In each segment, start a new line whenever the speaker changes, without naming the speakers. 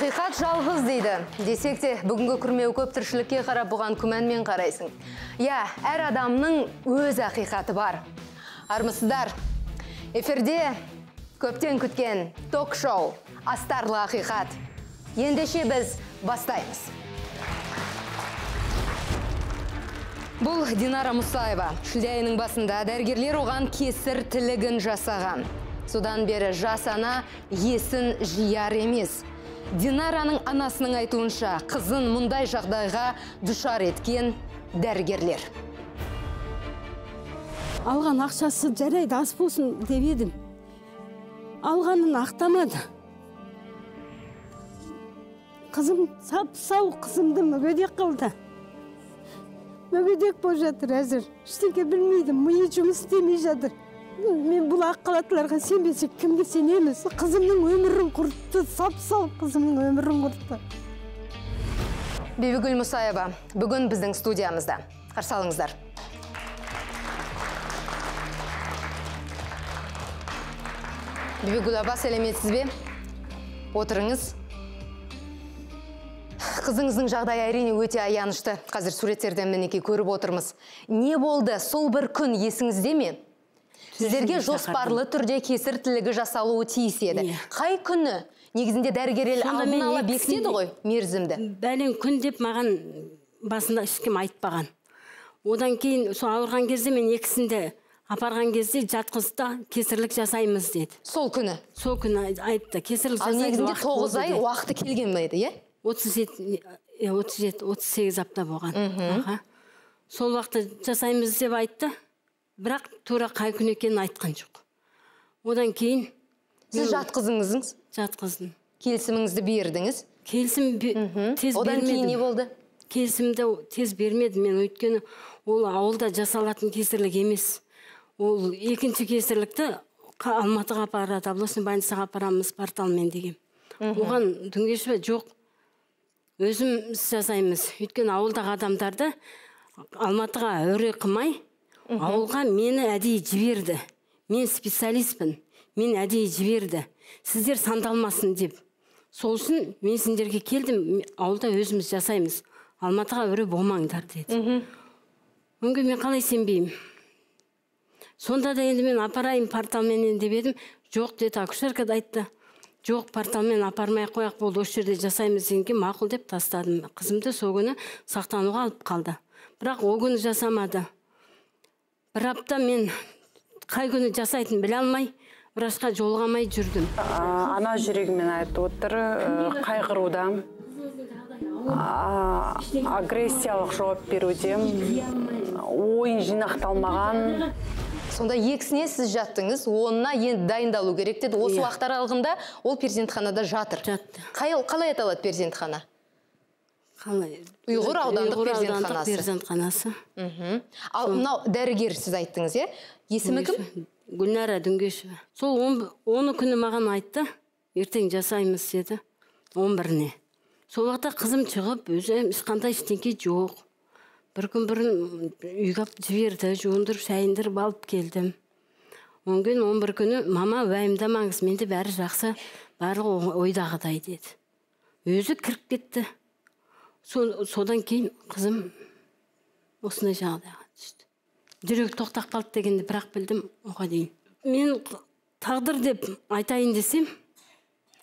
Ақиқат жалғыз дейді. Десек те, бүгінгі күрмеу көп тіршілікке қарап бұған күмәнмен қарайсың. Я, әр адамның өз ақиқаты бар. Армысыздар, эфирде көптен күткен ток-шоу «Астарлы ақиқат». Ендеше біз бастаймыз. Бұл Динара Мұсаева. Шілде айының басында дәрігерлер оған кесір тілігін жасаған. Содан бері жас ана есін жияр емес. Динараның анасының айтуынша қызын мұндай жағдайға душар еткен дәрігерлер.
Алған ақшасы жарайды, ас болсын деп едім. Алғанын ақтамады. Қызым сап-сау, қызымды мүгедек қылды. Мүгедек болып жатыр әзір. Ештеңе білмейді, миы жұмыс істемей жатыр. Мен бұл аққалатыларға сенбесек, кімге сенеміз? Қызымның өмірін құртты, сап-сау қызымның өмірін құртты.
Бибігүл Мұсаева бүгін біздің студиямызда. Қарсы алыңыздар. Бибігүл аба, сәлеметсіз бе? Отырыңыз. Қызыңыздың жағдайы әрине өте аянышты. Қазір суреттерден мінекей көріп отырмыз. Не болды? Сол бір күн есіңізде ме? Сіздерге жоспарлы түрде кесір тілігі жасалуы тиіс еді. Қай күні? Негізінде дәрігерлер алдын ала бекітеді ғой мерзімді.
Бәлен күн деп маған басында ешкім айтпаған. Одан кейін сол ауырған кезде мен екісінде апарған кезде жатқызда кесірлік жасаймыз деді.
Сол күні?
Сол күні айтты. Кесірлік жасайды.
Негізінде 9 ай уақыты келген бе еді, е?
37-38 апта болған. Сол уақытта жасаймыз деп айтты. Бірақ тура қай күн екенін айтқан жоқ. Одан кейін...
Сіз жатқызыңыз?
Жатқыздым.
Келісіміңізді бердіңіз?
Келісім тез бермедім.
Одан кейін не болды?
Келісімді тез бермедім. Мен өйткені ол ауылда жасалатын кесірлік емес. Ол екінші кесірлікті Алматыға апарады, областный больницаға апарамыз порталмен деген. Оған дүнгеші жоқ. Өзіміз жасаймыз. Өйткені ауылдағы адамдарды Алматыға өре қымай, ауылға мені әдейі жіберді. Мен специалистпін. Мен әдейі жіберді. Сіздер сандалмасын деп. Сол үшін мен сендерге келдім, ауылда өзіміз жасаймыз. Алматыға өре болмаңдар деді. Өңге мен қалай сенбеймін. Сонда да енді мен апарайын порталмен деп едім. Жоқ деді, акушерка да айтты. Жоқ, порталмен апармай қояқ болды, осы жерде жасаймыз дегенге мақұл деп тастадым. Қызымды сол күні сақтануға алып қалды. Бірақ ол күні жасамады. Бір апта мен қай күні жасайтын біле алмай, врачқа жолғамай жүрдім.
Ана жүрегімен айтып отыр, қайғырудам, агрессиялық жауап берудем, ойын жинақталмаған.
Сонда екісіне сіз жаттыңыз, онына енді дайындалу керек деді. Осы уақыт аралығында ол перзентханада жатыр.
Жатты.
Қалай аталады перзентхана? Ұйғыр аудандық
перзентханасы.
Ал мынау дәрігер сіз айттыңыз, е? Есімі кім?
Гүлнара Дүнгешева. Сол 10 күні маған айтты, ертең жасаймыз деді, 11-не. Сол уақытта қызым шығып, өзі ешқандай ештеңе жоқ. Бір күн бұрын үйге жіберді, жуындырып, шайындырып алып келдім. 10 күн, 11 күні, мама уайымдамаңыз, менде бәрі жақсы, барлығы ойдағыдай деді. Өзі кіріп кетті. Содан кейін қызым осындай жағдайға түсті. Жүрек тоқтап қалды дегенде бірақ білдім оға дейін. Мен тағдыр деп айтайын десем,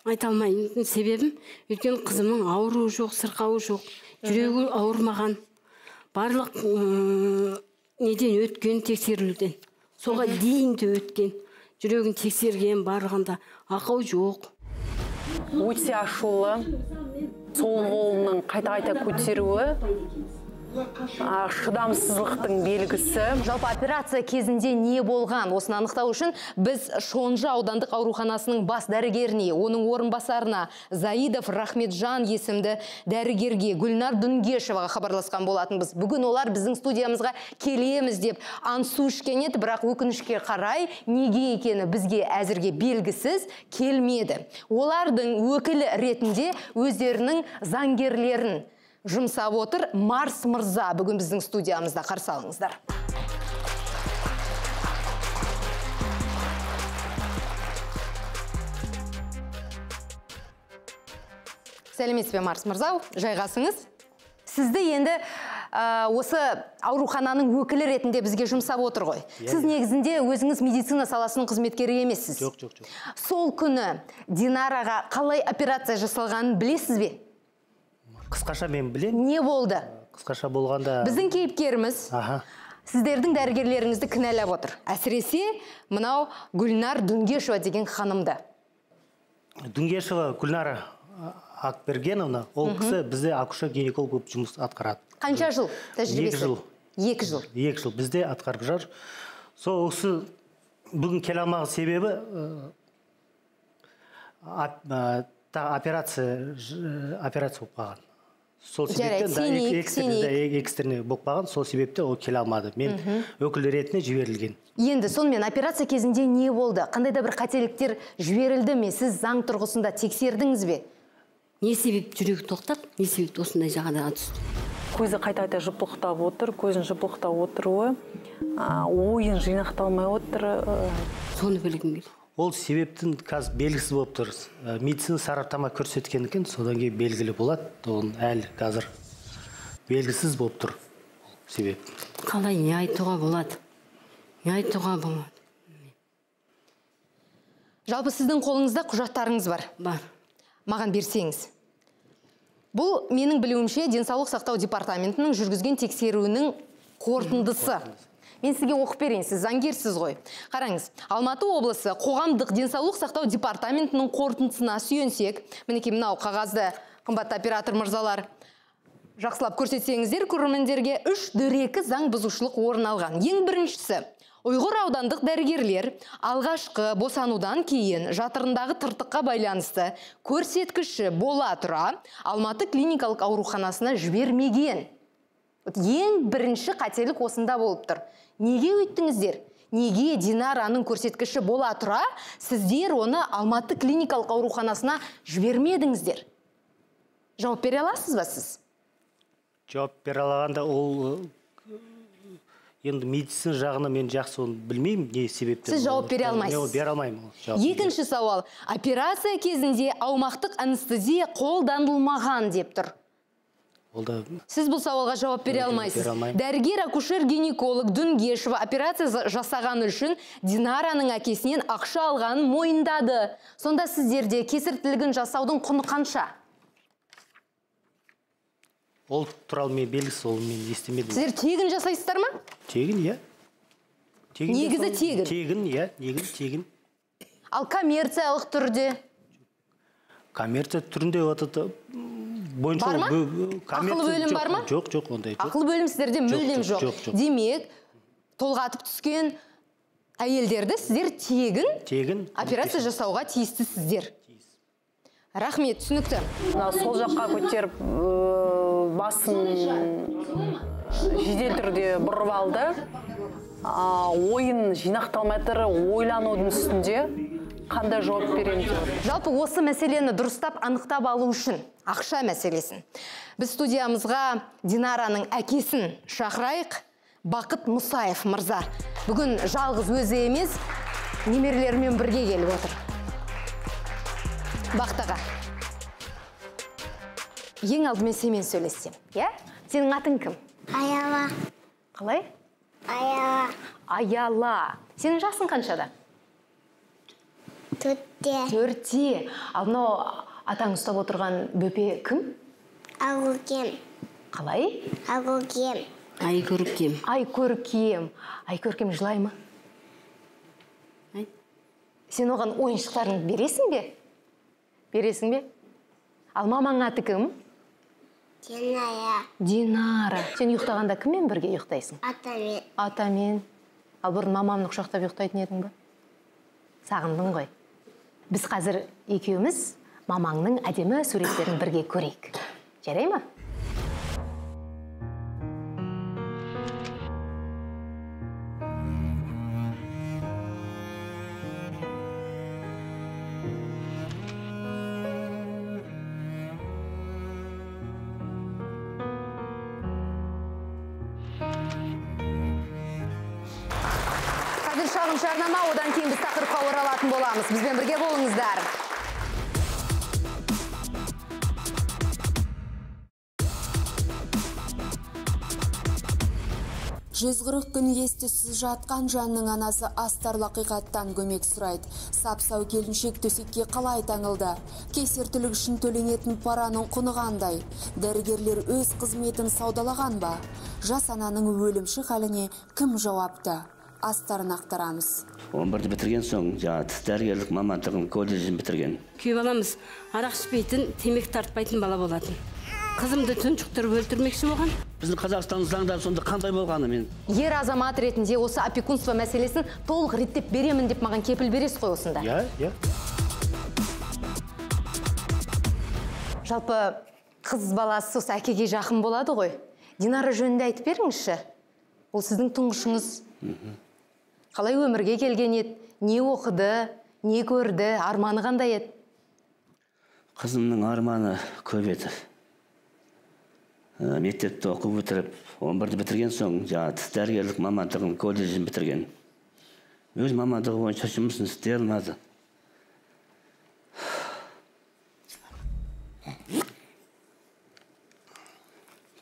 айта алмаймын. Себебім, өйткені қызымның ауруы жоқ, сырқауы жоқ, жүрегі ауырмаған. Барлық неден өткен тексерілуден. Соға дейін де өткен. Жүрегін тексерген барлығында ақау жоқ.
Өте ашулы, сол қолының қайта-қайта көтеруі, шыдамсыздықтың белгісі.
Жалпы операция кезінде не болған? Осыны анықтау үшін біз Шонжы аудандық ауруханасының бас дәрігеріне, оның орынбасарына Заидов Рахметжан есімді дәрігерге Гүлнар Дүнгешеваға хабарласқан болатынбыз. Бүгін олар біздің студиямызға келеміз деп аңсу ішкен еді, бірақ өкінішке қарай неге екені бізге әзірге белгісіз келмеді. Олардың өкілі ретінде өздерінің заңгерлерін жұмсап отыр. Марс мырза бүгін біздің студиямызда. Қарсы алыңыздар. Сәлеметсіз бе, Марс мырза, жайғасыңыз. Сізді енді осы аурухананың өкілі ретінде бізге жұмсап отыр ғой. Сіз негізінде өзіңіз медицина саласының қызметкері емессіз.
Жоқ.
Сол күні Динараға қалай операция жасалғанын білесіз бе?
Қысқаша мен білем.
Не болды?
Қысқаша болғанда...
Біздің кейіпкеріміз сіздердің дәрігерлеріңізді кінәлап отыр. Әсіресе мынау Гүлнар Дүнгешева деген ханымды.
Дүнгешева Гүлнара Акбергеновна, ол кісі бізде акушер-гинеколог болып жұмыс атқарады.
Қанша жыл тәжірибесі?
2 жыл. 2 жыл бізде атқарып жүр. Сол кісі бүгін келе алмаған себебі операция болып қалған. Сол себептен экстерный болып қалған, сол себепте ол келе алмады. Мен өкіл ретінде жіберілген.
Енді сонымен операция кезінде не болды? Қандай да бір қателіктер жіберілді ме? Сіз заң тұрғысында тексердіңіз бе?
Не себеп жүрегі тоқтап, не себеп осындай жағдайға түсті?
Көзі қайта жыпылықтап отыр, көзін жыпылықтап отыруы, ойын жинақталмай отыр.
Соны білгім келді.
Ол себептің қазір белгісіз болып тұр. Медицина сараптама көрсеткен екен, содан кейін белгілі болады. Оның әлі қазір белгісіз болып тұр себеп.
Қалай не айтуға болады? Не айтуға болады?
Жалпы сіздің қолыңызда құжаттарыңыз бар.
Бар.
Маған берсеңіз. Бұл менің білуімше денсаулық сақтау департаментінің жүргізген тексеруінің қорытындысы. Мен сізге оқып берейін, сіз заңгерсіз ғой. Қараңыз, Алматы облысы қоғамдық денсаулық сақтау департаментінің қорытындысына сүйенсек, мінекей мынау қағазды қымбатты оператор мырзалар жақсылап көрсетсеңіздер, көрермендерге 3 дөрекі заң бұзушылық орын алған. Ең біріншісі, Ұйғыр аудандық дәрігерлер алғашқы босанудан кейін жатырындағы тыртыққа байланысты көрсеткіші бола тұра Алматы клиникалық ауруханасына жібермеген. Ең бірінші қателік осында болып тұр. Неге өйттіңіздер? Неге Динараның көрсеткіші бола тұра, сіздер оны Алматы клиникалық ауруханасына жібермедіңіздер? Жауап бере аласыз ба сіз?
Жауап бере алғанда ол енді медицина жағына мен жақсы оны білмеймін, не себептен.
Сіз жауап бере алмайсыз.
Бере алмаймын.
Екінші сауал. Операция кезінде аумақтық анестезия қолданылмаған деп тұр. Сіз бұл сауалға жауап бере алмайсыз. Дәрігер акушер-гинеколог Дүнгешева операция жасаған үшін Динараның әкесінен ақша алғанын мойындады. Сонда сіздерде кесіртілігін жасаудың құны қанша?
Ол туралы мен белгісіз, ол мен естімедім.
Сіздер тегін жасайсыздар ма?
Тегін, иә.
Негізі тегін?
Тегін, иә, негізі тегін.
Ал коммерциялық түрде?
Коммерция түрінде отыды бойынша...
Бар ма? Ақылы бөлім бар ма?
Жоқ, ондай жоқ.
Ақылы бөлім сіздерде мүлдем жоқ. Демек, толғатып түскен әйелдерді сіздер тегін операция жасауға тиісті сіздер. Рахмет, түсінікті.
Сол жаққа көтеріп басын жедел түрде бұрып алды. Ойын жинақталмай тұр, ойланудың үстінде қандай жауап беремін деп.
Жалпы осы мәселені дұрыстап анықтап алу үшін ақша мәселесін. Біз студиямызға Динараның әкесін шақырайық. Бақыт Мұсаев мырза. Бүгін жалғыз өзі емес, немерелерімен бірге келіп отыр. Бақтаға. Ең алдымен семен сөйлессем, иә? Сенің атың кім?
Аяла.
Қалай?
Аяла.
Аяла. Сенің жасың қаншада? 4-те. Ал мынау атаң ұстап отырған бөпе кім?
Айкөркем.
Қалай?
Айкөркем.
Айкөркем.
Айкөркем. Айкөркем жылай ма? Сен оған ойыншықтарын бересің бе? Бересің бе? Ал мамаң аты кім?
Динара.
Динара. Сен ұйықтағанда кіммен бірге ұйықтайсың?
Атамен.
Атамен. Ал бұрын мамамны құшақтап ұйықтайтын едің бе? Сағындың ғой. Біз қазір екеуміз мамаңның әдемі суреттерін бірге көрейік. Жарай ма? Шағын жарнама, одан кейін біз тақырыпқа оралатын боламыз. Бізбен бірге болыңыздар.
140 күн ес-түссіз жатқан жанның анасы астарлы ақиқаттан көмек сұрайды. Сап-сау келіншек төсекке қалай таңылды? Кесіртілік үшін төленетін параның құны қандай? Дәрігерлер өз қызметін саудалаған ба? Жас ананың өлімші халіне кім жауапты? Астарын ақтарамыз.
11-ді бітірген соң, дәрігерлік мамандығын колледжін бітірген.
Күй баламыз арақ ішпейтін, темек тартпайтын бала болатын. Қызымды тұншықтырып өлтірмекші болған.
Біздің Қазақстанның заңдары сонда қандай болғаны мен?
Ер азамат ретінде осы опекунство мәселесін толық реттеп беремін деп маған кепіл бересіз ғой осында.
Иә.
Жалпы қыз баласы осы әкеге жақын болады ғой. Динара жөнінде айтып беріңізші. Ол сіздің тұңғышыңыз. Қалай өмірге келген еді? Не оқыды? Не көрді? Арманы қандай еді?
Қызымның арманы көп еді. Мектепті оқып өтіріп, 11-ді бітірген соң, дәрігерлік мамандығын колледжін бітірген. Өз мамандығы бойынша жұмысын істей алмады.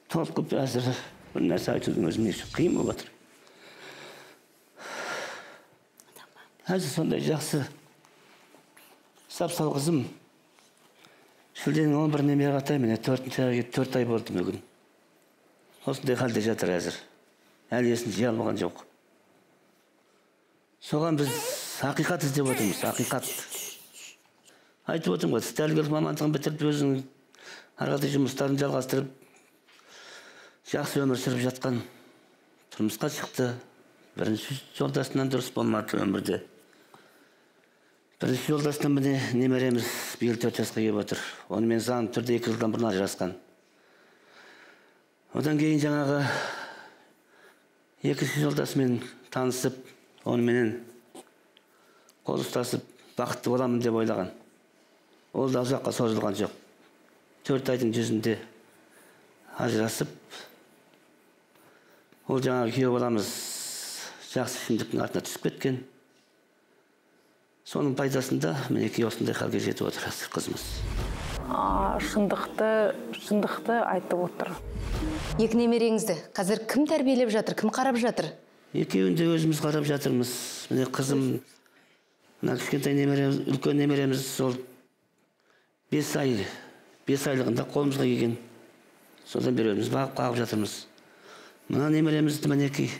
Толқып әзір бір нәрсе айтудың өзіне қиын болып отыр. Әзір сондай жақсы сап-сау қызым. Шілденің 11-іне мені қатаймын, 4 ай болды мүгін. Осындай халде жатыр әзір. Әлі есін жия алмаған жоқ. Соған біз ақиқат іздеп отырмыз, ақиқат. Айтып отырмын ғой, дәрігерлік мамандығын бітіріп, өзінің арқадай жұмыстарын жалғастырып, жақсы өмір сүріп жатқан. Тұрмысқа шықты. Бірінші жолдасынан дұрыс болмады өмірде. Бірінші жолдасынан міне немереміз биыл 4 жасқа келіп отыр. Онымен заңды түрде 2 жылдан бұрын ажырасқан. Одан кейін жаңағы екінші жолдасымен танысып, оныменен қол ұстасып, бақытты боламын деп ойлаған. Ол да ұзаққа созылған жоқ. 4 айдың жүзінде ажырасып, ол жаңағы күйеу баламыз жақсы ішімдіктің артына түсіп кеткен. Соның пайдасында мінекей осындай халге жетіп отыр қызымыз.
Шындықты айтып отыр.
Екі немереңізді қазір кім тәрбиелеп жатыр, кім қарап жатыр?
Екеуін де өзіміз қарап жатырмыз. Міне қызым, кішкентай немереміз, үлкен немереміз сол 5 айлығында қолымызға келген. Содан бері өзіміз бағып қағып жатырмыз. Мына немеремізді мінекей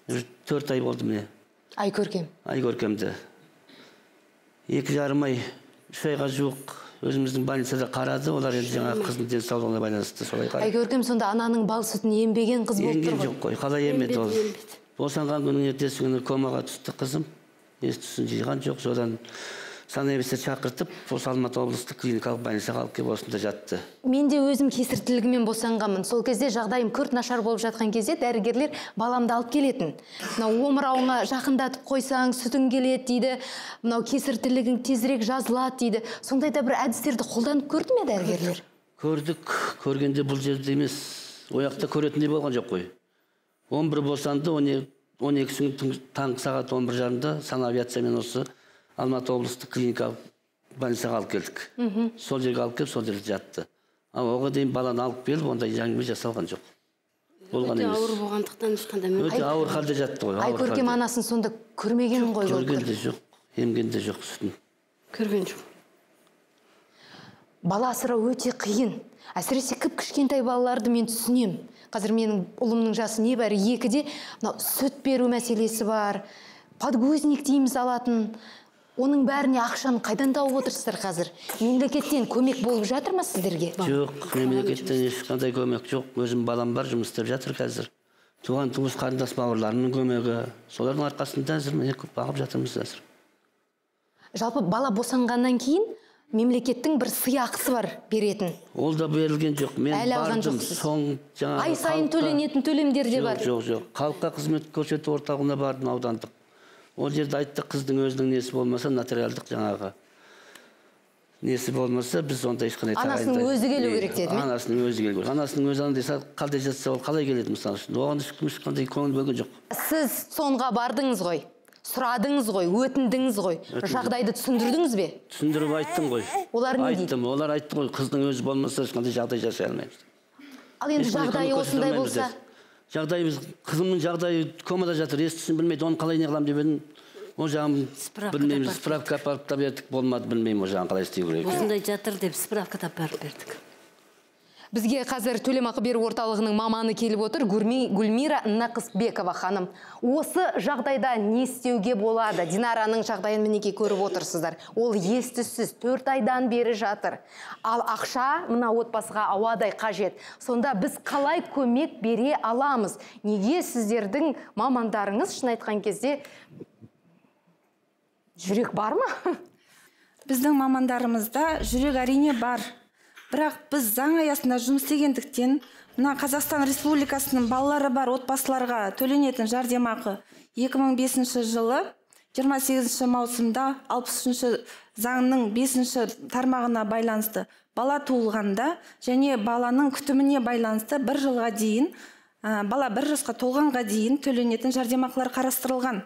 4 ай болды міне. Айкөркемді. 2,5 ай, 3 айға жуық өзіміздің больницада қарады. Олар енді жаңа қыздың денсаулығына байланысты солай қарады.
Айкөркем сонда ананың бал сүтін ембеген қыз болып тұр ғой.
Емген жоқ қой, қалай емеді ол. Босанған күнің ертесі күні комаға түсті қызым. Ес-түссін жиған жоқ. Содан санаебесте шақыртып, осы Алматы облыстық клиникалық больницаға алып келіп осында жатты.
Мен де өзім кесіртілігімен босанғанмын. Сол кезде жағдайым күрт нашар болып жатқан кезде дәрігерлер баламды алып келетін. Мынау омырауыңа жақындатып қойсаң, сүтің келеді дейді. Мынау кесіртілігің тезірек жазылады дейді. Сондай да бір әдістерді қолданып көрді ме дәрігерлер?
Көрдік. Көргенде бұл жерде емес. Ояқта көретіндей болған жоқ қой. 11 босанды, 12 таңғы сағат 11:30-да санавиациямен осы Алматы облыстық клиникалық больницаға алып келдік. Сол жерге алып келіп, сол жерде жатты. Оған дейін баланы алып келіп, ондай әңгіме жасалған жоқ.
Өте ауыр болғандықтан ешқандай мүмкін.
Өте ауыр халде жатты ғой.
Айкөркем анасын сонда көрмеген ғой.
Көрген де жоқ, емген де жоқ сүтін.
Көрген жоқ.
Бала асырау өте қиын. Әсіресе кішкентай балаларды мен түсінем. Қазір менің ұлымның жасы небәрі 2-де, сүт беру мәселесі бар. Подгузник дейміз алатын. Оның бәріне ақшаны қайдан тауып отырсыздар қазір? Мемлекеттен көмек болып жатыр ма сіздерге?
Жоқ, мемлекеттен ешқандай көмек жоқ. Өзім балам бар, жұмыс істеп жатыр қазір. Туған туыс қарындас бауырларының көмегі. Солардың арқасында әзір міне көп бағып жатырмыз әзір.
Жалпы бала босанғаннан кейін мемлекеттің бір сыйақысы бар беретін.
Ол да берілген жоқ. Мен бардым,
ай сайын төленетін төлемдер де бар.
Жоқ. Халыққа қызмет көрсету орталығына бардым, аудандық. Ол жерде айтты, қыздың өзінің несі болмаса, нотариалдық жаңағы несі болмаса, біз онда ешқандай
тағайындаймыз. Анасының өзі келу керек деді ме?
Анасының өзі келу керек. Анасының өзі андай қалдай жатса, ол қалай келеді мысалы үшін? Оған ешқандай көңіл бөлген жоқ.
Сіз сонға бардыңыз ғой, сұрадыңыз ғой, өтіндіңіз ғой, жағдайды түсіндірдіңіз бе?
Түсіндіріп айттым ғой.
Олар не дейді?
Айттым, олар айтты ғой, қыздың өзі болмаса, ешқандай жағдай жасай алмаймыз.
Ал енді жағдайы осындай болса?
жағдайымыз, қызымның жағдайы комада жатыр, естісін білмейді, оны қалай не қыламын деп едім. О жағын білмейміз, справка апарып та бердік, болмады, білмеймін, о жағын қалай істеу керек.
осындай жатыр деп справка апарып бердік.
Бізге қазір төлемақы беру орталығының маманы келіп отыр, Гүлмира Нақысбекова ханым. Осы жағдайда не істеуге болады? Динараның жағдайын мінеке көріп отырсыздар. Ол естісіз 4 айдан бері жатыр. Ал ақша мына отбасыға ауадай қажет. Сонда біз қалай көмек бере аламыз? Неге сіздердің мамандарыңыз шын айтқан кезде жүрек бар ма?
Біздің мамандарымызда жүрек әрине бар. Бірақ біз заң аясында жұмыс істегендіктен, мына Қазақстан Республикасының балалары бар отбасыларға төленетін жәрдемақы 2005 жылы 28 маусымда 60 заңның 5 тармағына байланысты бала туылғанда және баланың күтіміне байланысты 1 жылға дейін, бала 1 жасқа толғанға дейін төленетін жәрдемақылар қарастырылған.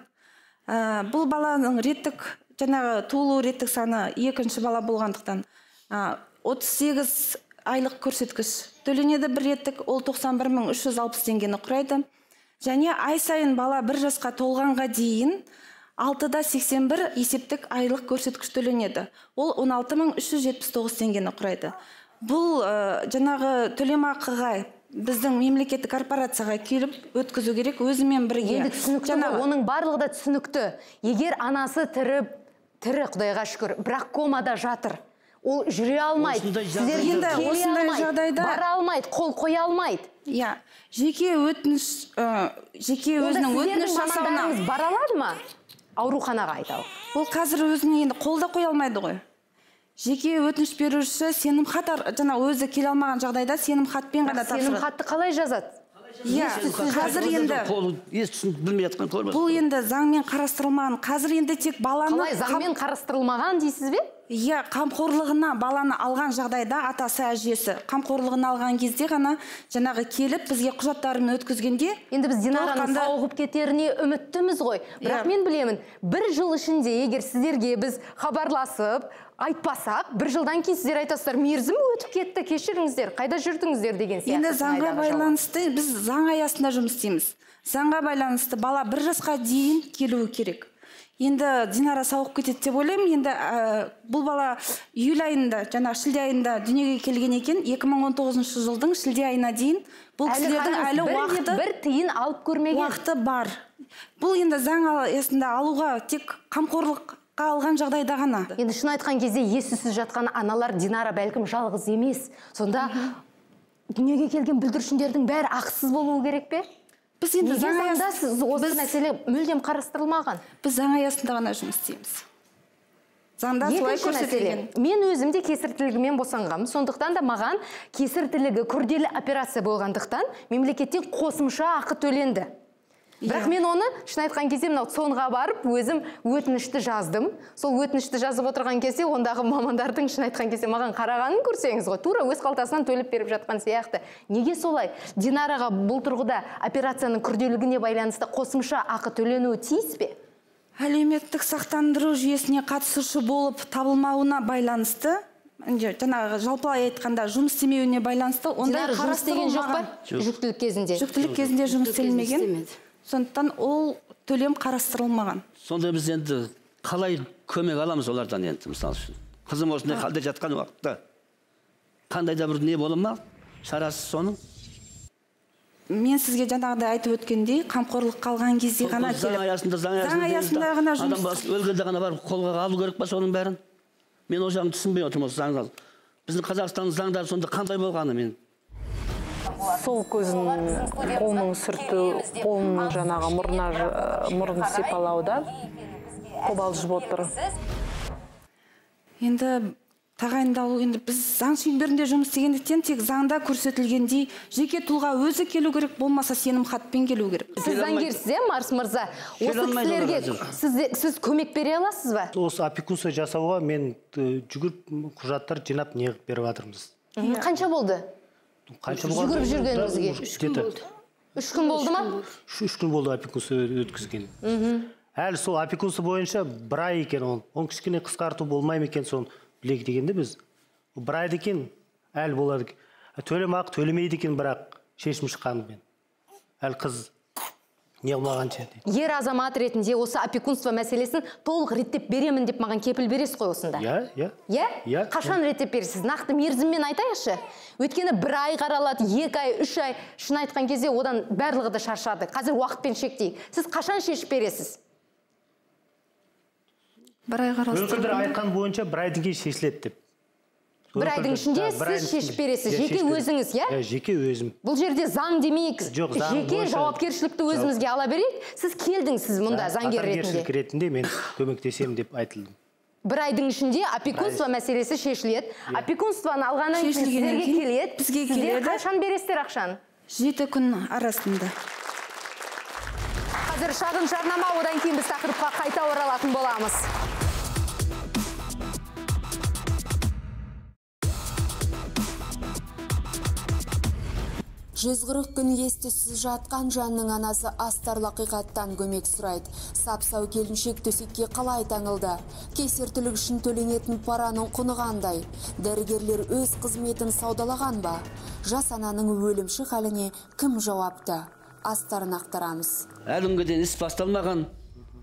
Бұл баланың реттік, жаңағы туылу реттік саны 2 бала болғандықтан 38 айлық көрсеткіш төленеді бір реттік, ол 91.360 теңгені құрайды. Және ай сайын бала 1 жасқа толғанға дейін 6.81 есептік айлық көрсеткіш төленеді. Ол 16.379 теңгені құрайды. Бұл жаңағы төлемақыға біздің мемлекеттік корпорацияға келіп өткізу керек, өзімен бірге.
Енді түсінікті, оның барлығы да түсінікті. Егер анасы тірі, Құдайға шүкір, бірақ комада жатыр. Ол жүре алмайды, сіздерге келе алмайды, бара алмайды, қол қоя алмайды.
Иә, жеке өзінің өтініш жасауына
бара алады ма? Ауруханаға айталық.
Ол қазір өзіне енді қолда қоя алмайды ғой. Жеке өтініш беруші сенім хат, жаңа өзі келе алмаған жағдайда сенім хатпен ғана тапсырады.
Сенім хатты қалай жазады?
Иә, қазір енді бұл енді заңмен қарастырылмаған. Қазір енді тек баланы
қалай заңмен қарастырылмаған дейсіз бе?
Иә, қамқорлығына баланы алған жағдайда атасы әжесі қамқорлығына алған кезде ғана жаңағы келіп бізге құжаттарын өткізгенде,
енді біз Динараның сауығып кетеріне үміттіміз ғой. Бірақ мен білемін, 1 жыл ішінде егер сіздерге біз хабарласып айтпасақ, 1 жылдан кейін сіздер айтасыздар, мерзім өтіп кетті, кешіріңіздер, қайда жүрдіңіздер деген сияқты.
Енді заңға байланысты біз заң аясында жұмыс істейміз. Заңға байланысты бала 1 жасқа дейін келуі керек. Енді Динара сауығып кетеді деп ойлаймын. Енді бұл бала июль айында, жаңа шілде айында дүниеге келген екен. 2019 жылдың шілде айына дейін бұл кісілердің әлі уақыты
бір тиын алып көрмеген.
Уақыты бар. Бұл енді заң аясында алуға тек қамқорлыққа алған жағдайда ғана.
Енді шын айтқан кезде ессіз жатқан аналар Динара бәлкім жалғыз емес. Сонда дүниеге келген бүлдіршіндердің бәрі ақысыз болуы керек пе?
Біз енді заң аясында
осы мәселе мүлдем қарастырылмаған.
Біз заң аясында ғана жұмыс істейміз. Заңда солай көрсетілген.
Мен өзімде кесір тілігімен босанғанмын. Сондықтан да маған кесір тілігі күрделі операция болғандықтан мемлекеттен қосымша ақы төленді. Бірақ мен оны шын айтқан кезде сонға барып өзім өтінішті жаздым. Сол өтінішті жазып отырған кезде ондағы мамандардың шын айтқан кезде маған қарағанын көрсеңіз ғой, тура өз қалтасынан төлеп беріп жатқан сияқты. Неге солай? Динараға бұл тұрғыда операцияның күрделілігіне байланысты қосымша ақы төленуі тиіс пе?
Әлеуметтік сақтандыру жүйесіне қатысушы болып табылмауына байланысты, жаңағы жалпылай айтқанда жұмыс істемеуіне байланысты, ондай қарастырылмаған.
Жүктілік кезінде.
Жүктілік кезінде жұмыс істелмеген. Сондықтан ол төлем қарастырылмаған.
Сонда біз енді қалай көмек аламыз олардан енді, мысалы үшін? Қызым осындай халде жатқан уақытта қандай да бір не бола ма? Шарасы соның?
Мен сізге жаңағыдай айтып өткендей, қамқорлық қалған кезде ғана келіп. Заң аясында ғана жұмыс.
Адам өлгенде ғана барып қолға алу керек па соның бәрін? Мен ол жағын түсінбей отырмын осы заңды. Біздің Қазақстанның заңдары сонда қандай болғаны мен?
Сол көзін қолының сүрту, қолының жаңағы мұрын сипалауда қобалжып отыр.
Енді тағайындалу, енді біз заң шеңберінде жұмыс істегендіктен тек заңда көрсетілгендей жеке тұлға өзі келу керек, болмаса сенім хатпен келу керек.
Сіз заңгерсіз, Марс мырза? Осы кісілерге сіз көмек бере аласыз ба?
Осы опекунство жасауға мен жүгіріп құжаттар жинап неғып беріп жатырмыз.
Қанша болды? Жүгіріп жүргеніңізге?
3 күн болды.
3 күн болды ма?
3 күн болды опекунство өткізген. Әлі сол опекунство бойынша 1 ай екен ол. Оны кішкене қысқарту болмайды екен, соны білек дегенде біз. 1 айды екен, әлі болады. Төлемақы төлемейді екен, бірақ шешім шыққанымен. әлі қыз не қылмағанша.
Ер азамат ретінде осы опекунство мәселесін толық реттеп беремін деп маған кепіл бересіз ғой осында.
Иә.
Қашан реттеп бересіз? Нақты мерзіммен айтайықшы. Өйткені 1 ай қаралады, 2 ай, 3 ай. Шын айтқан кезде одан барлығы да шаршады. Қазір уақытпен шектейік. Сіз қашан шешіп бересіз?
1 ай қаралады.
Өкілдер айтқан бойынша 1 айдан кейін шешіледі деп.
1 айдың ішінде сіз шешіп бересіз, жеке өзіңіз, иә?
Жеке өзім.
Бұл жерде заң демейік, жеке жауапкершілікті өзімізге ала берейік. Сіз келдіңіз мұнда заңгер ретінде.
Қатар ретінде мен көмектесем деп айтылдым.
1 айдың ішінде опекунство мәселесі шешіледі. Опекунствоны алғаннан кейін сіздерге келеді. Сіздер қашан бересіздер ақшаны?
7 күн арасында.
Қазір шағын жарнама, одан кейін біз тақырыпқа қайта оралатын боламыз.
«140 күн ес-түссіз жатқан жанның анасы астарлы ақиқаттан көмек сұрайды. Сап-сау келіншек төсекке қалай таңылды? Кесіртілік үшін төленетін параның құны қандай? Дәрігерлер өз қызметін саудалаған ба? Жас ананың өлімші халіне кім жауапты? Астарын ақтарамыз.
Әлі дейін іс басталмаған,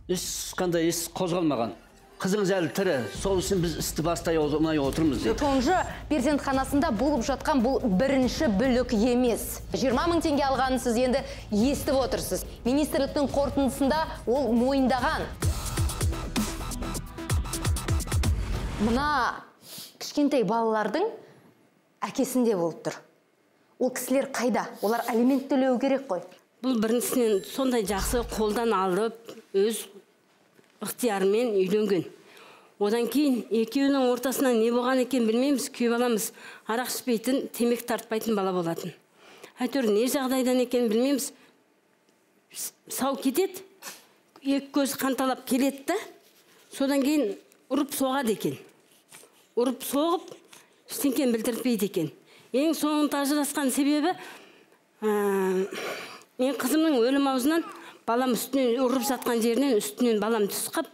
ешқандай іс қозғалмаған. Қызыңыз әлі тірі, сол үшін біз істі бастай отырмыз.
Тонжы перзентханасында болып жатқан бұл бірінші бүлік емес. 20 мың теңге алғанын сіз енді естіп отырсыз. Министрліктің қорытындысында ол мойындаған. Мына кішкентай балалардың әкесінде болып тұр. Ол кісілер қайда? Олар алимент төлеу керек қой.
Бұл біріншісінен сондай жақсы қолдан алып, өз ықтиярымен үйленген. Одан кейін екеуінің ортасына не болған екен білмейміз, күйіп аламыз. Арақ ішпейтін, темек тартпайтын бала болатын. Әйтеуір не жағдайдан екен білмейміз. Сау кетеді, екі көз қанталап келеді, содан кейін ұрып соғады екен. Ұрып соғып, ештеңені білдіртпейді екен. Ең соңында ажырасқан себебі, мен қызымның өлім аузынан балам үстінен ұрып жатқан жерінен үстінен балам түсіп,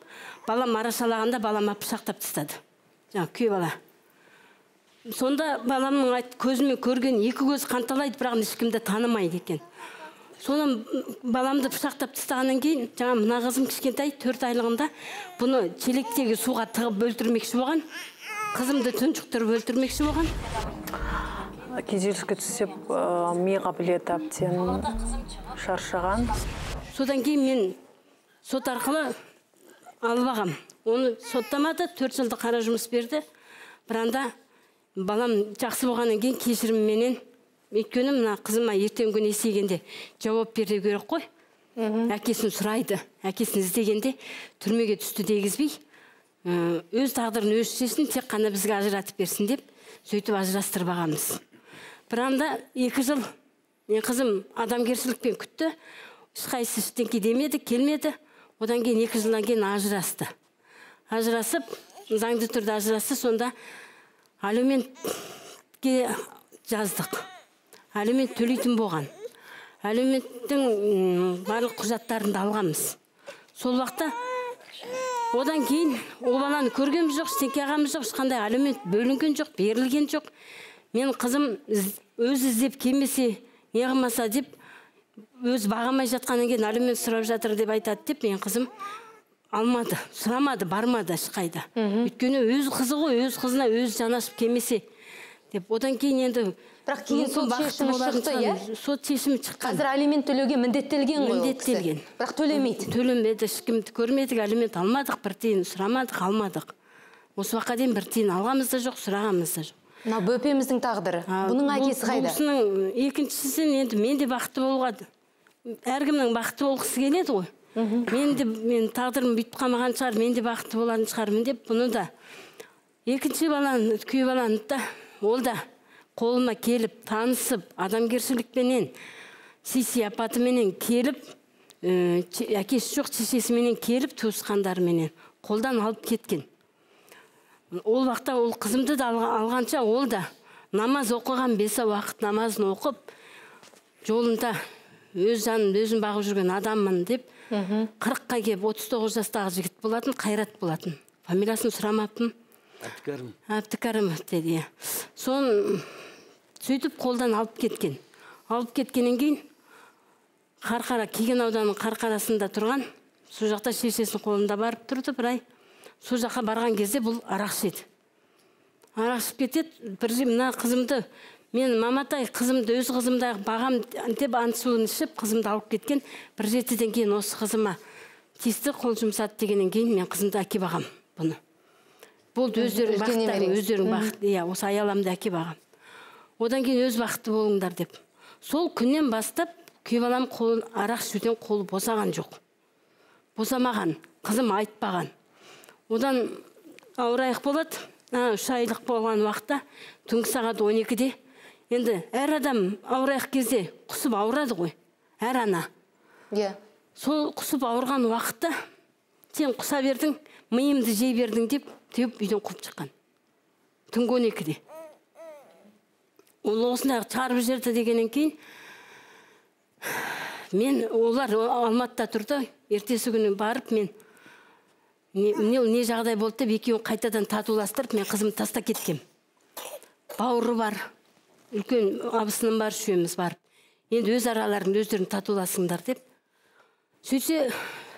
балам арашалағанда балама пышақтап тастады. Жаңа күйіп бала. Сонда баламның көзімен көрген екі көз қанталайды, бірақ ешкімді танымайды екен. Содан баламды пышақтап тастағаннан кейін, жаңа мына қызым кішкентай 4 айлығында бұны челектегі суға тығып өлтірмекші болған. Қызымды тұншықтырып өлтірмекші болған.
Күйзеліске түсіп, миға білет әбден шаршаған.
Содан кейін мен сот арқылы алып ағам. Оны соттамады, 4 жылды қара жұмыс берді. Біранда балам жақсы болғаннан кейін кешірімменен, өйткені мына қызыма ертең күн есейгенде жауап беру керек қой. Әкесін сұрайды, әкесін іздегенде түрмеге түсті дегізбей, өз тағдырын өз шешсін, тек қана бізге ажыратып берсін деп, сөйтіп ажырастырып ағамыз. Біранда 2 жыл мен қызым адамгершілікпен күтті. Ешқайсысы ештеңке демеді, келмеді. Одан кейін 2 жылдан кейін ажырасты. Ажырасып, заңды түрде ажырасты, сонда алиментке жаздық. Алимент төлейтін болған. Алименттің барлық құжаттарын алғанбыз. Сол уақытта одан кейін ол баланы көргеніміз жоқ, ештеңке ағамыз жоқ, ешқандай алимент бөлінген жоқ, берілген жоқ. Мен қызым өз іздеп келмесе, не қылмаса деп, өз бағамай жатқаннан кейін алимент сұрап жатыр деп айтады деп, мен қызым алмады, сұрамады, бармады ешқайда. Өйткені өз қызы ғой, өз қызына өз жанашып келмесе деп. Одан кейін енді
бірақ кейін сот шешімі шықты, иә?
Сот шешімі шыққан.
Қазір алимент төлеуге міндеттелген ғой.
Міндеттелген.
Бірақ төлемейді.
Төленбеді, ешкімді көрмедік, алимент алмадық, бір тиын сұрамадық, алмадық. Осы уақытқа дейін бір тиын алғамыз да жоқ, сұрағамыз да жоқ.
Мына бөпеміздің тағдыры. Бұның әкесі қайда?
Бұсының екіншісін енді мен де бақытты болуға, әркімнің бақытты болғысы келеді ғой. Мен тағдырым бүйтіп қалмаған шығар, мен де бақытты болатын шығармын деп, бұны да екінші баланы, күйіп баланы да, ол да қолыма келіп, танысып, адамгершілікпенен, сияпатыменен келіп, әкесі жоқ шешесіменен келіп, туысқандарыменен қолдан алып кеткен. Ол уақытта ол қызымды да алғанша, ол да намаз оқыған, 5 уақыт намазын оқып, жолында өз жанын өзін бағып жүрген адаммын деп, 40-қа кеп 39 жастағы жігіт болатын, қайрат болатын. Фамилиясын сұрамаппын. Әбдікәрімов деді. Сон сөйтіп қолдан алып кеткен. Алып кеткеннен кейін Қарқара, Кеген ауданының Қарқарасында тұрған. Сол жақта шешесінің қолында барып тұрды бір ай. Сол жаққа барған кезде бұл арақ ішеді. Арақ ішіп кетеді. Бірде мына қызымды, мен маматай қызымды, өз қызымды бағам деп ант суын ішіп, қызымды алып кеткен. Бір жетіден кейін осы қызыма тиісті қол жұмсады дегеннен кейін мен қызымды әке бағам бұны. Болды өздерің бақыттайым, өздерің бақыт. Иә, осы аяламды әке бағам. Одан кейін өз бақытты болыңдар деп. Сол күннен бастап күйеу балам қолын арақ ішуден қолы босаған жоқ. Босамаған, қызым айтпаған. Одан ауырайық болады. 3 айлық болған уақытта түнгі сағат 12-де. Енді әр адам ауырайық кезде құсып ауырады ғой. Әр ана. Сол құсып ауырған уақытта сен құса бердің, миымды жей бердің деп теуіп үйден қуып шыққан. Түнгі 12-де. Ол осындай чарып жерді дегеннен кейін мен олар Алматыда тұрды. Ертесі күні барып мен не жағдай болды деп екеуін қайтадан татуластырып мен қызымды таста кеткем. Бауыры бар, үлкен абысыным бар, үшеуміз барып. Енді өз араларында өздерін татуласыңдар деп. Сөйтсе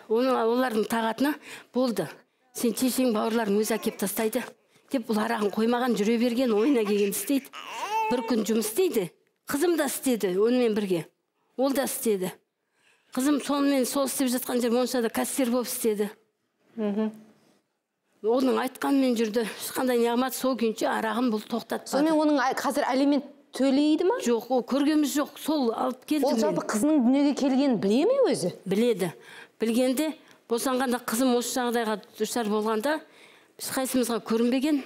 олардың тағатына болды. Сен шешең бауырларың өзі әкеп тастайды деп бұл арағын қоймаған жүре берген, ойына келген істейді. Бір күн жұмыс істейді. Қызым да істеді онымен бірге. Ол да істеді. Қызым сонымен сол істеп жатқан жер моншада кассир болып істеді. Оның айтқанмен жүрді. Ешқандай неғмат сол күнше арағын бұл тоқтатпады.
Сонымен оның қазір алимент төлейді ма?
Жоқ, ол көргеніміз жоқ. Сол алып келді.
Ол жалпы қызының дүниеге келгенін біле ме өзі?
Біледі. Білгенде босанғанда қызым осы жағдайға душар болғанда ешқайсымызға көрінбеген.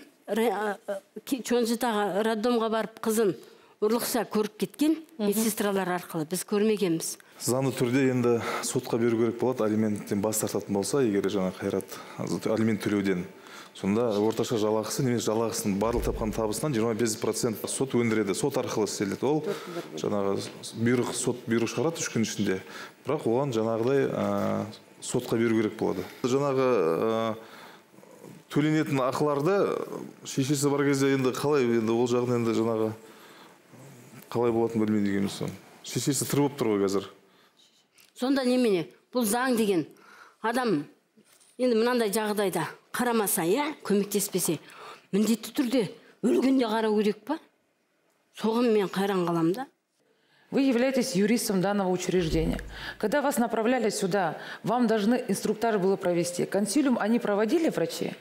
Чонжытаға роддомға барып қызын ұрлықша көріп кеткен медсестралар арқылы біз көрмегенбіз.
Заңды түрде енді сотқа беру керек болады, алименттен бас тартатын болса, егер жаңа Қайрат алимент төлеуден. Сонда орташа жалақысы, немесе жалақысының барлық тапқан табысынан 25% сот өндіреді, сот арқылы істеледі. Ол жаңағы сот бұйрық шығарады 3 күн ішінде. Бірақ оған жаңағыдай сотқа беру керек болады. Жаңағы төленетін ақыларды шешесі бар кезде енді қалай, енді ол жағын енді жаңағы қалай болатын білмейді дегеніміз сон. Шешесі тірі болып тұр ғой қазір.
Сонда немене? Бұл заң деген адам енді мынандай жағдайда қарамаса, көмектеспесе, міндетті түрде өлгенде қарау керек па? Соған мен қайран қаламда.
Вы являетесь юристом данного учреждения. Когда вас направляли сюда, вам должны инструктаж было провести. Консилиум они проводили, врачи?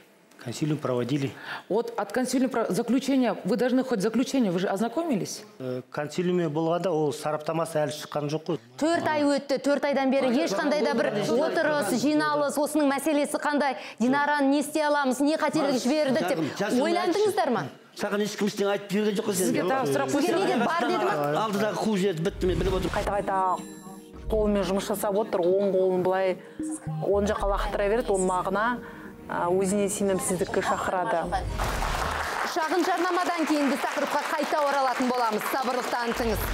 Консилиум проводили.
Вот от консилиума заключения, вы должны хоть заключение, вы же ознакомились?
Консилиуме болғанда ол сараптамасы әлі шыққан жоқ қой.
4 ай өтті, 4 айдан бері ешқандай да бір отырыс, жиналыс, осының мәселесі қандай, Динараны не істей аламыз, не қателік жібердік деп ойландыңыздар ма?
Саған ешкім ештеңе айтып берген жоқ қой.
Сізге тағы сұрақ
Сізге неге бар деді ма?
Алдыдағы қу жерді бітті, мен біліп отырмын.
Қайта қолымен жұмыс жасап отыр, оң қолын былай оң жаққа лақтыра береді, ол мағына өзіне сенімсіздікке шақырады.
Шағын жарнамадан кейін біз тақырыпқа қайта оралатын боламыз. Сабырлық танытыңыз.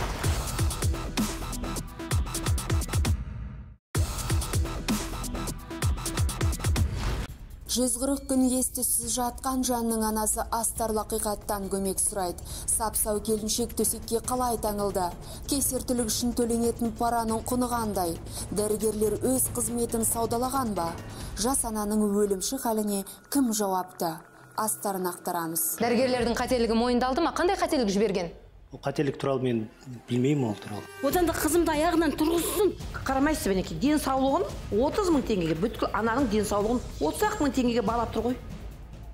Жүз 40 күн ес-түссіз жатқан жанның анасы астарлы ақиқаттан көмек сұрайды. Сап-сау келіншек төсекке қалай таңылды? Кесіртілік үшін төленетін параның құны қандай? Дәрігерлер өз қызметін саудалаған ба? Жас ананың өлімші халіне кім жауапты? Астарын ақтарамыз.
Дәрігерлердің қателігі мойындалды ма? Қандай қателік жіберген?
Қателік туралы мен білмеймін ол туралы.
Одан да қызымды аяғынан тұрғызсын.
Қарамайсыз бенеке, денсаулығын 30 мың теңгеге, бүткіл ананың денсаулығын 30 мың теңгеге балап тұр ғой.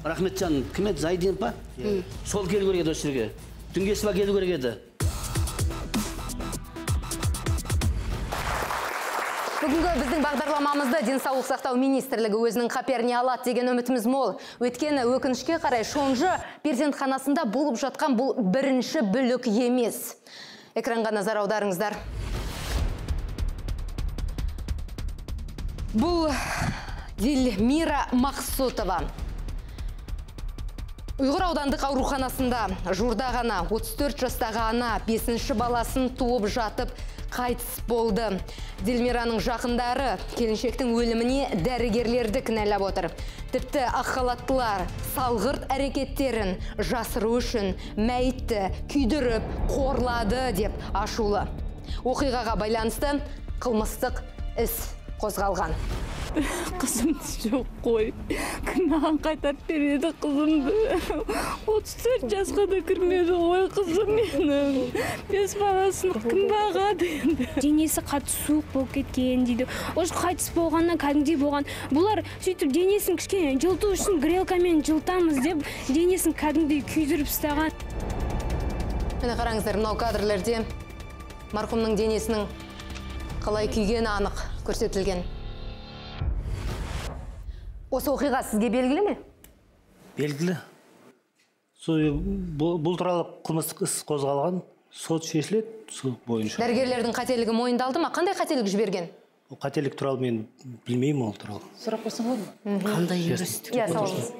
Рахметжан, кім еді, Зайден па? Сол келу керек еді осы жерге. Түнгесі ба келу керек еді.
Бүгінгі біздің бағдарламамызды денсаулық сақтау министрлігі өзінің қаперіне алады деген үмітіміз мол. Өйткені өкінішке қарай шонжы перзентханасында болып жатқан бұл бірінші бүлік емес. Экранға назар аударыңыздар. Бұл Дильмира Мақсотова. Ұйғыр аудандық ауруханасында жуырда ғана 34 жастағы ана 5-ші баласын туып жатып қайтыс болды. Дильмираның жақындары келіншектің өліміне дәрігерлерді кінәлап отыр. Тіпті ақ халаттылар салғырт әрекеттерін жасыру үшін мәйітті күйдіріп, қорлады деп ашулы. Оқиғаға байланысты қылмыстық іс қозғалған.
Қызымды жоқ қой. Кім маған қайтарып береді қызымды? 34 жасқа да кірмеді ғой қызым менің. 5 баласын кім бағады енді?
Денесі қатты суық болып кеткен дейді. Осы қайтыс болғаннан кәдімгідей болған. Бұлар сөйтіп денесін кішкене жылыту үшін грелкамен жылытамыз деп денесін кәдімгідей күйдіріп ұстаған.
Міне қараңыздар, мынау кадрлерде марқұмның денесінің қалай күйгені анық көрсетілген. Осы оқиға сізге белгілі ме?
Белгілі. Бұл туралы қылмыстық іс қозғалған, сот шешіледі, сол бойынша.
Дәрігерлердің қателігі мойындалды ма? Қандай қателік жіберген?
Қателік туралы мен білмеймін ол туралы.
Сұрақ қойсам болады ма?
Қандай юристтік?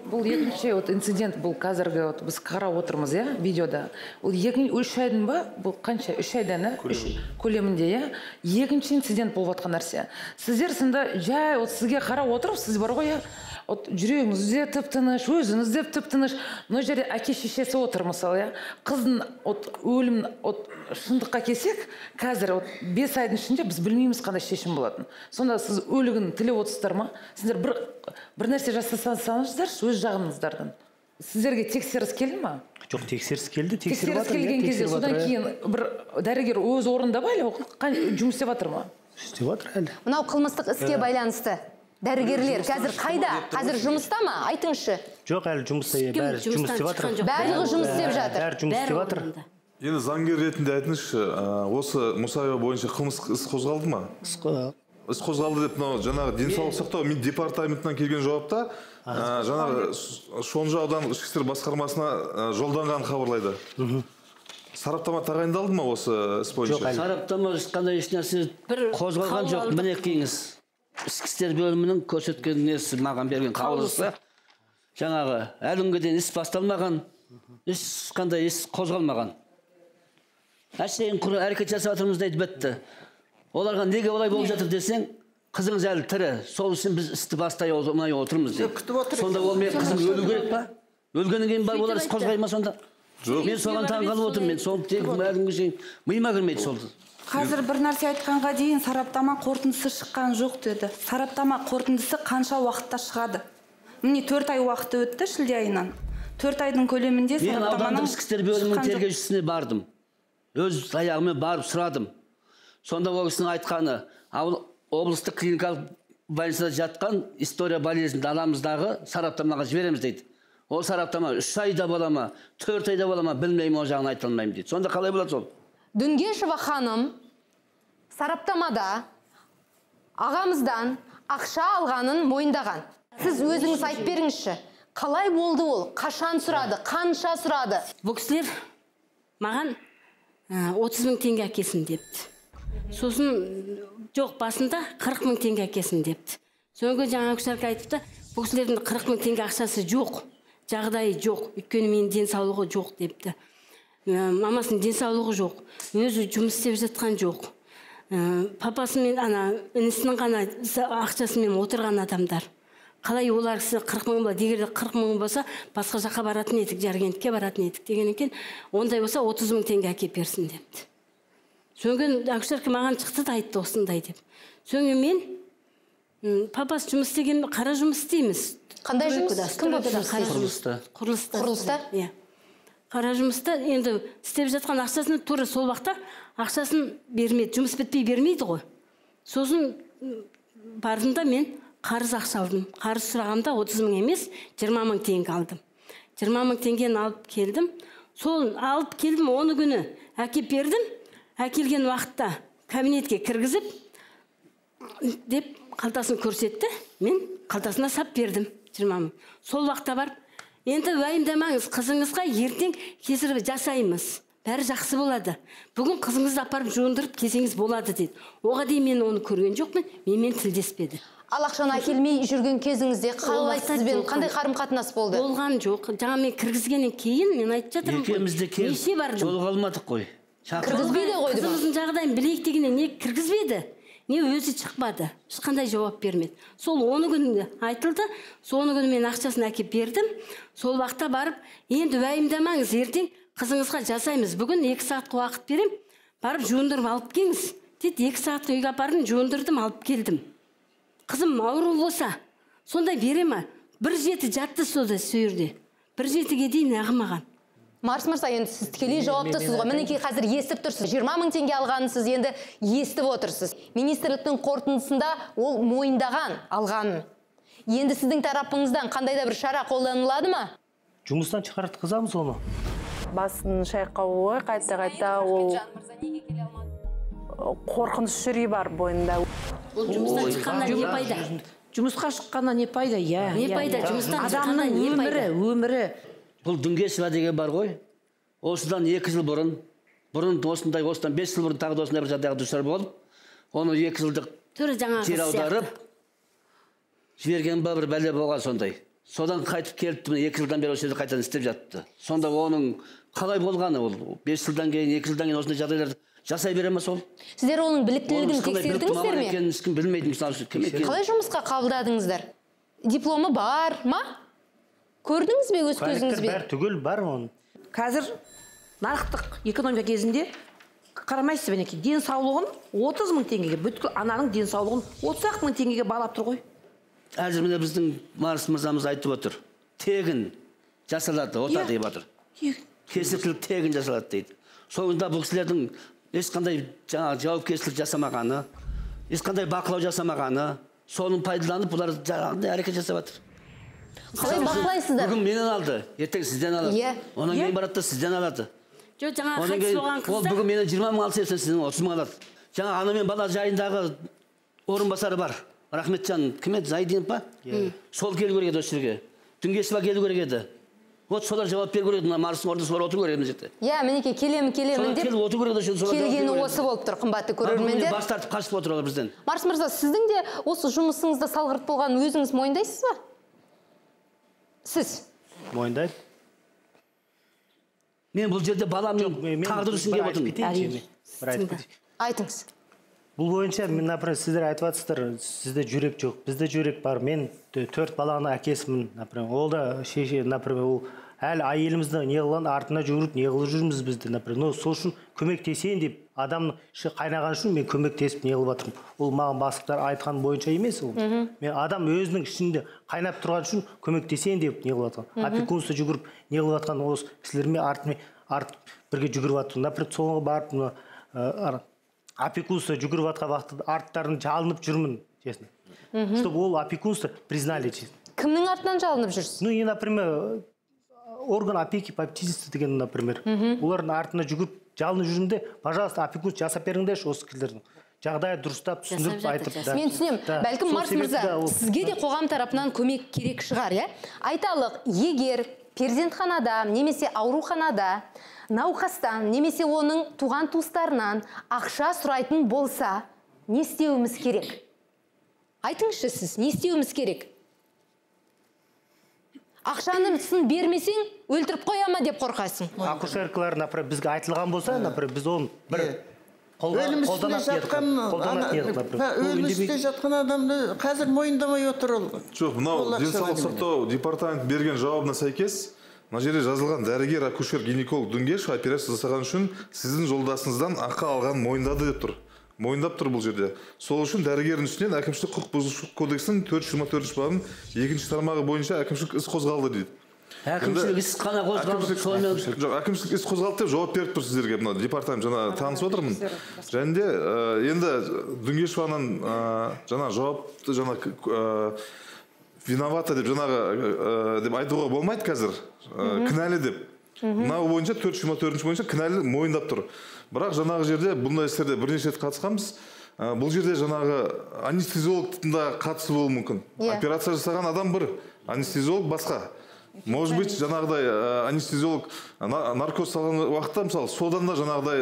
Бұл екінші инцидент, бұл қазіргі біз қарап отырмыз, видеода. Ол 3 айдың ба? Бұл қанша? 3 айдан көлемінде, екінші инцидент болып жатқан нәрсе. Сіздер сында жай сізге қарап отырып, сіз бар ғой, жүрегіңіз де тып-тыныш, өзіңіз де тып-тыныш. Мына жерде әке шешесі отыр мысалы, қыздың өлім шындыққа келсек, қазір 5 айдың ішінде біз білмейміз қандай шешім болатын. Сонда сіз өлігін тілеп отырсыздар ма? Сіздер бір нәрсе жасасаңыздар, өз жағыңыздардан. Сіздерге тексеріс келді ма?
Жоқ, тексеріс келді,
тексеріс келген кезде содан кейін бір дәрігер өз орнында ба, жұмыс істеп жатыр ма?
Істеп жатыр әлі.
Мынау қылмыстық іске байланысты дәрігерлер қазір қайда? Қазір жұмыста ма? Айтыңызшы.
Жоқ, әлі жұмыста, бәрі жұмыс істеп жатыр.
Барлығы жұмыс істеп жатыр.
Бәрі жұмыс істеп жатыр.
Енді заңгер ретінде айтыңызшы, осы Мұсаева бойынша қылмыстық іс қозғалды ма? Іс қозғалды деп, жаңағы денсаулық сақтау департаментінен келген жауапта, жаңағы Шонжы аудандық ішкі істер басқармасына жолданған хабарлайды. Сараптама тағайындалды ма осы іс бойынша?
Жоқ, сараптама ешқандай ешнәрсе қозғалған жоқ. Міне келіңіз. Ішкі істер бөлімінің көрсеткен несі маған берген қаулысы. Жаңағы әлі күнге дейін іс басталмаған, ешқандай іс қозғалмаған. Әшейін әрекет жасап жатырмыз дейді бітті. Оларға неге олай болып жатыр десең, қызыңыз әлі тірі. Сол үшін біз істі бастай оңай отырмыз дейді. Сонда ол мен қызым өлу керек па? Өлгеннен кейін бар олар іс қозғай ма сонда? Мен соған таңғалып отырмын. Мен соны тек әлі күнге дейін миыма кірмейді сол.
Қазір бір нәрсе айтқанға дейін сараптама қорытындысы шыққан жоқ деді. Сараптама қорытындысы қанша уақытта шығады? Міне 4 ай уақыты өтті шілде айынан. 4 айдың көлемінде
сараптаманың... Мен аудандық ішкі істер бөлімінің тергеушісіне бардым. Өз аяғымен барып сұрадым. Сонда ол кісінің айтқаны, облыстық клиникалық больницада жатқан история болезінде аламыздағы сараптамаға жібереміз дейді. Ол сараптама 3 айда бола ма, 4 айда бола ма, білмеймін, ол жағын айта алмаймын дейді. Сонда қалай болады сол?
Дүнгешева ханым сараптамада ағамыздан ақша алғанын мойындаған. Сіз өзіңіз айтып беріңізші. Қалай болды ол? Қашан сұрады? Қанша сұрады?
Бұл кісілер маған 30 мың теңге әкесін депті. Сосын жоқ, басында 40 мың теңге әкесін депті. Соңғы жаңа күшәрке айтыпты, бұл кісілердің 40 мың теңге ақшасы жоқ, жағдайы жоқ, өйткені менің денсаулығы жоқ депті. Мамасының денсаулығы жоқ, өзі жұмыс істеп жатқан жоқ. Папасымен інісінің ғана ақшасымен отырған адамдар. Қалай олар кісі 40 мың болады, егер 40 мың болса, басқа жаққа баратын едік, Жаркентке баратын едік деген екен, ондай болса 30 мың теңге әкеп берсін депті. Соңғы акушерка маған шықты да айтты осындай деп. Соңғы мен папасы жұмыс істеген, қара жұмыс істейміз.
Қандай жұмыс? Кім болып
құрылыста?
Құрылыста?
Иә. Қара жұмыста енді істеп жатқан ақшасын тура сол уақытта ақшасын бермейді, жұмыс бітпей бермейді ғой. Сосын бардым мен қарыз ақша алдым. Қарыз сұрағамда 30 мың емес, 20 мың теңге алдым. 20 мың теңгені алып келдім. Сол алып келдім, оны күні әкеп бердім. Әкелген уақытта кабинетке кіргізіп деп қалтасын көрсетті. Мен қалтасына сап бердім 20 мың. Сол уақытта барып, енді уайымдамаңыз, қызыңызға ертең кесіріп жасаймыз. Бәрі жақсы болады. Бүгін қызыңызды апарып жуындырып кесеңіз болады деді. Оға дейін мен оны көрген жоқпын, менімен тілдеспеді.
Ал ақшаны әкелмей жүрген кезіңізде қалай сізбен қандай қарым-қатынас болды?
Болған жоқ. Жаңа мен кіргізгеннен кейін мен айтып жатырмын.
Екеумізде келіп жолыға алмадық қой.
Кіргізбейді ғой деп.
Қызымыздың жағдайын білейік дегенде не кіргізбеді, не өзі шықпады. Ешқандай жауап бермеді. Сол 10 күнде айтылды. Сол 10 күні мен ақшасын әкеп бердім. Сол уақытта барып, енді уайымдамаңыз, ертең қызыңызға жасаймыз. Бүгін 2 сағатқа уақыт берем. Барып жуындырып алып келіңіз деді 2 сағатта үйге апардым, жондырдым, алып келдім. Қызым ауру болса, сонда бере ма? 1:07 жатты сода сөйірде. 1:07-ге дейін ағымаған.
Марс мырза, енді сіз тікелей жауаптысыз ғой. Мінекей қазір естіп тұрсыз. 20 000 теңге алғанын сіз енді естіп отырсыз. Министрліктің қорытындысында ол мойындаған алғанын. Енді сіздің тарапыңыздан қандай да бір шара қолданылады ма?
Жұмыстан шығартқызамыз оны.
Басын шайқауы қайта ол қорқыныш жүрей бар бойында.
Ол жұмыстан шыққанда не пайда?
Жұмысқа шыққанда не пайда?
Не пайда? Жұмыстан шыққанда
Адамның
не пайда?
өмірі.
Бұл Дүнгешева деген бар ғой. Осыдан 2 жыл бұрын осыдан 5 жыл бұрын тағы да осындай бір жағдайға душар болып, оны 2 жылдық жер аударып жіберген ба бір бәле болған сондай. Содан қайтып келіпті, 2 жылдан бері осы жерде қайтадан істеп жатты. Сонда оның қалай болғаны ол? 5 жылдан кейін, 2 жылдан кейін осындай жағдайларды жасай бере ме сол?
Сіздер оның біліктілігін тексердіңіздер ме?
Ешкім білмейді, мысалы, кім екенін.
Қалай жұмысқа қабылдадыңыздар? Дипломы бар ма? Көрдіңіз бе өз көзіңізбен?
Бәрі түгел бар оның.
Қазір нарықтық экономика кезінде қарамайсыз бенеке, денсаулығын 30 000 теңгеге, бүткіл ананың денсаулығын 30 000 теңгеге балап тұр ғой.
Әзір міне біздің Марс мырзамыз айтып отыр. Тегін жасалады, ота деп отыр. Кесіртілік тегін жасалады дейді. Соңында бұл кісілердің ешқандай жауапкершілік жасамағаны, ешқандай бақылау жасамағаны, соның пайдаланып бұлар әрекет жасап жатыр.
Қалай бақылайсыздар?
Бүгін менен алды, ертең сізден алады. Онан кейін барады да сізден алады.
Жоқ, жаңа қайтыс болған қыздар.
Ол бүгін менен 20 000 алса, сізден 30 000 алады. Жаңа ана мен бала жайындағы орынбасары бар. Рахметжан, кім еді? Зайдинов па? Сол келу керек еді осы жерге. Дүнгешева келу керек еді. Вот солар жауап беру керек еді. Марстың орнында солар отыру керек еді жерде.
Мінекей келемін деп келгені осы болып тұр, қымбатты көрермендер.
Бас тартып қашып отыр олар бізден.
Марс мырза, сіздің де осы жұмысыңызда салғырт болғанын өзіңіз мойындайсыз ба? Сіз?
Мойындайды.
Мен бұл жерде баламның тағдыры үшін келіп отырмын.
Айтыңыз.
Бұл бойынша, например, сіздер айтып жатсыздар, сізде жүрек жоқ, бізде жүрек бар. Мен 4 баланың әкесімін, например. Ол да шеше, например, ол әлі әйелімізді неғылған артына жүгіріп, неғылып жүрміз бізді, например. Сол үшін көмектесейін деп, адамның іші қайнаған үшін мен көмектесіп неғылып жатырмын. Ол маған бастықтар айтқан бойынша емес ол. Мен адам өзінің ішінде қайнап тұрған үшін көмектесейін деп неғылып жатқан. Опекунство жүгіріп неғылып жатқан осы кісілермен бірге жүгіріп жатырмын. Например, соңғы барып опекунство жүгіріп жатқан уақытта арттарын жалынып жүрмін, честно. Чтобы ол опекунство признали, честно.
Кімнің артынан жалынып жүрсіз?
Ну, и, например, орган опеки попечительства деген, например, олардың артына жүгіріп жалынып жүрмін де, пожалуйста, опекунство жасап беріңдерші осы кісілердің. Жағдайы дұрыстап түсіндіріп айтып.
Мен түсінемін. Бәлкім Марс мырза, сізге де қоғам тарапынан көмек керек шығар, иә? Айталық, егер перзентханада немесе ауруханада науқастан немесе оның туған туыстарынан ақша сұрайтын болса, не істеуіміз керек? Айтыңызшы сіз, не істеуіміз керек? Ақшаны сын бермесең, өлтіріп қояма деп қорқасың.
Акушеркалар, например, бізге айтылған болса, например, біз оны бір
өлімісте жатқан адамды қазір мойындамай отыр ол.
Жоқ, мынау денсаулық сақтау департамент берген жауабына сәйкес, мына жерде жазылған дәрігер, акушер, гинеколог Дүнгешева операция жасаған үшін сіздің жолдасыңыздан ақы алған мойындады деп тұр. Мойындап тұр бұл жерде. Сол үшін дәрігердің үстінен әкімшілік құқық бұзушылық кодексінің 424 бабының 2-ші тармағы бойынша әкімшілік іс қозғалды дейді.
Әкімшілік іс қана қозғалды.
Жоқ, әкімшілік іс қозғалды деп жауап беріп тұр сіздерге. Мына департамент жаңа танысып отырмын. Және де енді Дүнгешеваның жаңа жауапты жаңа виновата деп жаңағы деп айтуға болмайды қазір. Кінәлі деп. Мынау бойынша 424 бойынша кінәлі мойындап тұр. Бірақ жаңағы жерде бұндай істерде бірнеше рет қатысқанбыз. Бұл жерде жаңағы анестезиологтың да қатысы болуы мүмкін. Операция жасаған адам бір, анестезиолог басқа. Может быть, жаңағыдай анестезиолог наркоз салған уақытта, мысалы, содан да жаңағыдай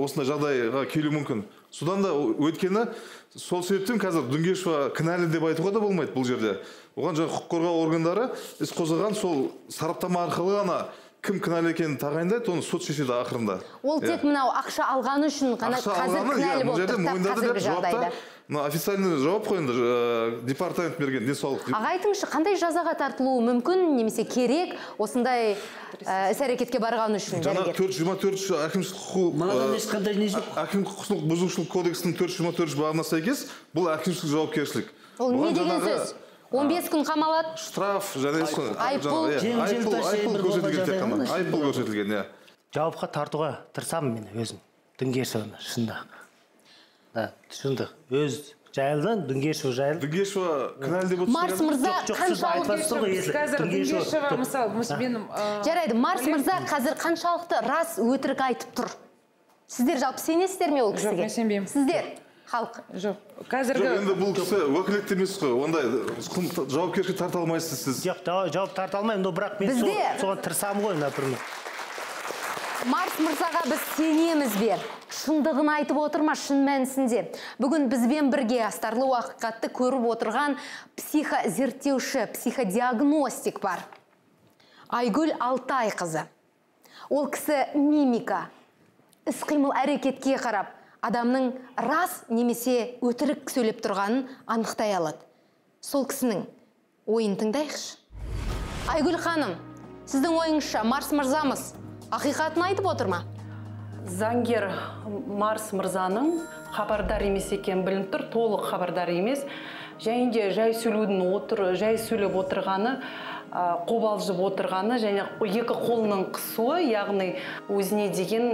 осындай жағдайға келуі мүмкін. Содан да өткені сол себептен қазір Дүнгешева кінәлі деп айтуға да болмайды бұл жерде. Оған жаңа құқық қорғау органдары іс қозғаған сол сараптама арқылы ғана кім кінәлі екенін тағайындайды, оны сот шешеді ақырында.
Ол тек мынау ақша алғаны үшін ғана қазір кінәлі болып тұр қазіргі жағдайда.
мына официальный жауап қой енді департамент берген денсаулық.
Аға айтыңызшы, қандай жазаға тартылуы мүмкін немесе керек осындай іс-әрекетке барған үшін?
Жаңа 424 әкімшілік құқық бұзушылық кодексінің 424 бабына сәйкес бұл әкімшілік жауапкершілік.
Ол не деген сөз? 15 күн қамалады.
Штраф және айыппұл көрсетілген.
Жауапқа тартуға тырысамын мен өзім. Дүнгешеваны шында. Шындық. Өз жайылдан Дүнгешев жайыл.
Дүнгешева кінәлі деп отырсыз.
Марс мырза жарайды, Марс мырза қазір қаншалықты рас өтірік айтып тұр? Сіздер жалпы сенесіздер ме ол кісіге?
Жоқ, мен сенбеймін.
Сіздер? Халық?
Жоқ. Қазіргі...
Жоқ, енді бұл кісі өкілетті емес қой. Ондай жауапкершілікке тарта алмайсыз сіз.
Жоқ, жауап тарта алмаймын, но бірақ мен соған тырысамын ғой, например.
Марс мырзаға біз сенеміз бе? Шындығын айтып отырма шын мәнісінде. Бүгін бізбен бірге астарлы уақытты көріп отырған психозерттеуші, психодиагностик бар. Айгүл Алтайқызы. Ол кісі мимика, іс-қимыл әрекетке қарап, адамның рас немесе өтірік сөйлеп тұрғанын анықтай алады. Сол кісінің ойын тыңдайықшы. Айгүл ханым, сіздің ойыңызша Марс мырзамыз ақиқатын айтып отыр ма?
Заңгер Марс мырзаның хабардар емес екен білініп тұр, толық хабардар емес. Және де жай сөйлеп отырғаны, қобалжып отырғаны, және екі қолының қысуы, яғни өзіне деген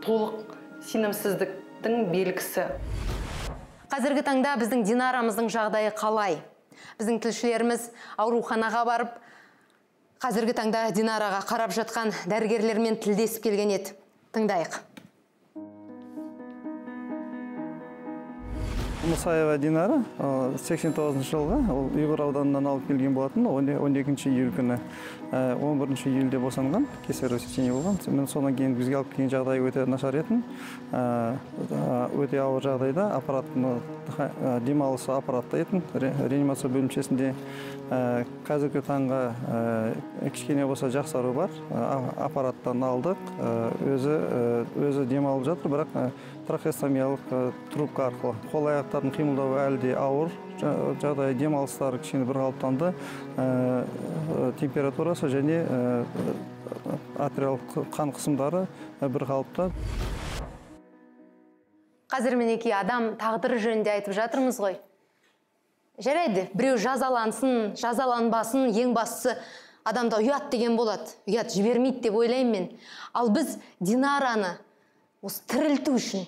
толық сенімсіздіктің белгісі.
Қазіргі таңда біздің Динарамыздың жағдайы қалай? Біздің тілшілеріміз ауруханаға барып, қазіргі таңда Динараға қарап жатқан дәрігерлермен тілдесіп келген еді. Тыңдайық.
Мұсаева Динара 89 жылғы Ұйғыр ауданынан алып келген болатын, 12 июль күні 11 июльде босанған, кесарево сечение болған. Мен содан кейін бізге алып келген жағдай өте нашар етін, өте ауыр жағдайда демалысы аппаратта етін, реанимация бөлімшесінде қазіргі таңға кішкене болса жақсару бар, аппараттан алдық, өзі демалып жатыр, бірақ трахеостомиялық трубка арқылы. Қол аяқтардың қимылдауы әлі де ауыр, жағдай демалыстары кішкене бір қалыптанды, температурасы және артериялық қан қысымдары бір қалыпта.
Қазір мінекей адам тағдыры жөнінде айтып жатырмыз ғой. Жарайды, біреу жазалансын, жазаланбасын, ең бастысы адамда ұят деген болады. Ұят жібермейді деп ойлаймын мен. Ал біз Динараны осы тірілту үшін,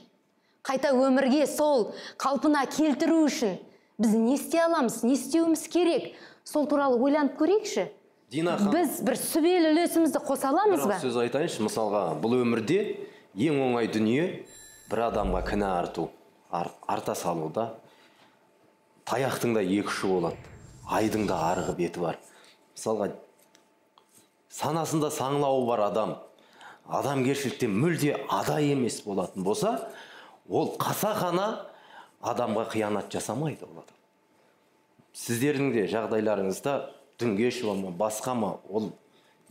қайта өмірге сол қалпына келтіру үшін біз не істей аламыз, не істеуіміз керек? Сол туралы ойланып көрейікші. Біз бір сүбелі үлесімізді қоса аламыз ба?
Сөз айтайыншы, мысалға, бұл өмірде ең оңай дүние бір адамға кінә арту, арта салуда. Таяқтың да екі ұшы болады, айдың да арғы беті бар. Мысалға, санасында саңлауы бар адамгершіліктен мүлде адай емес болатын болса, ол қасақана адамға қиянат жасамайды болады. Сіздердің де жағдайларыңызда Дүнгешева ма, басқа ма, ол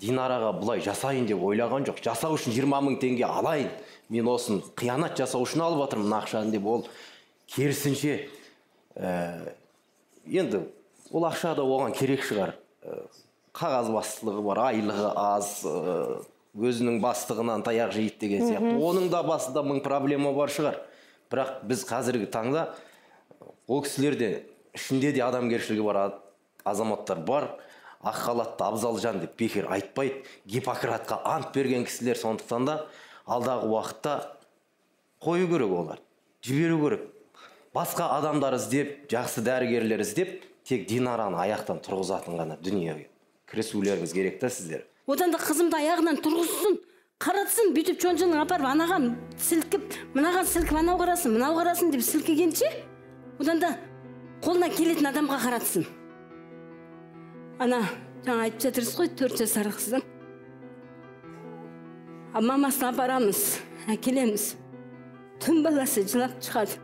Динараға бұлай жасайын деп ойлаған жоқ. Жасау үшін 20 000 теңге алайын, мен осын қиянат жасау үшін алып жатырмын ақшаны деп, ол керісінше енді ол ақша да оған керек шығар. Қағаз бастылығы бар, айлығы аз, өзінің бастығынан таяқ жейді деген сияқты. Оның да басында 1000 проблема бар шығар. Бірақ біз қазіргі таңда ол кісілерде ішінде де адамгершілігі бар азаматтар бар. Ақ халатты Абзалжан деп бекер айтпайды. Гиппократқа ант берген кісілер, сондықтан да алдағы уақытта қою керек олар, жіберу керек. Басқа адамдар іздеп, жақсы дәрігерлер іздеп, тек Динараны аяқтан тұрғызатын ғана дүниеге кірісулеріңіз керек та сіздер.
Одан да қызымды аяғынан тұрғызсын, қаратсын, бүйтіп чонжының апарып анаған сілкіп, мынаған сілкіп, анау қарасын деп сілкігенше, одан да қолына келетін адамға қаратсын. Ана, жаңа айтып жатырсыз ғой, 4 жасар қыздың. Мамасын апарамыз, әкелеміз. Түн баласы жылап шығады.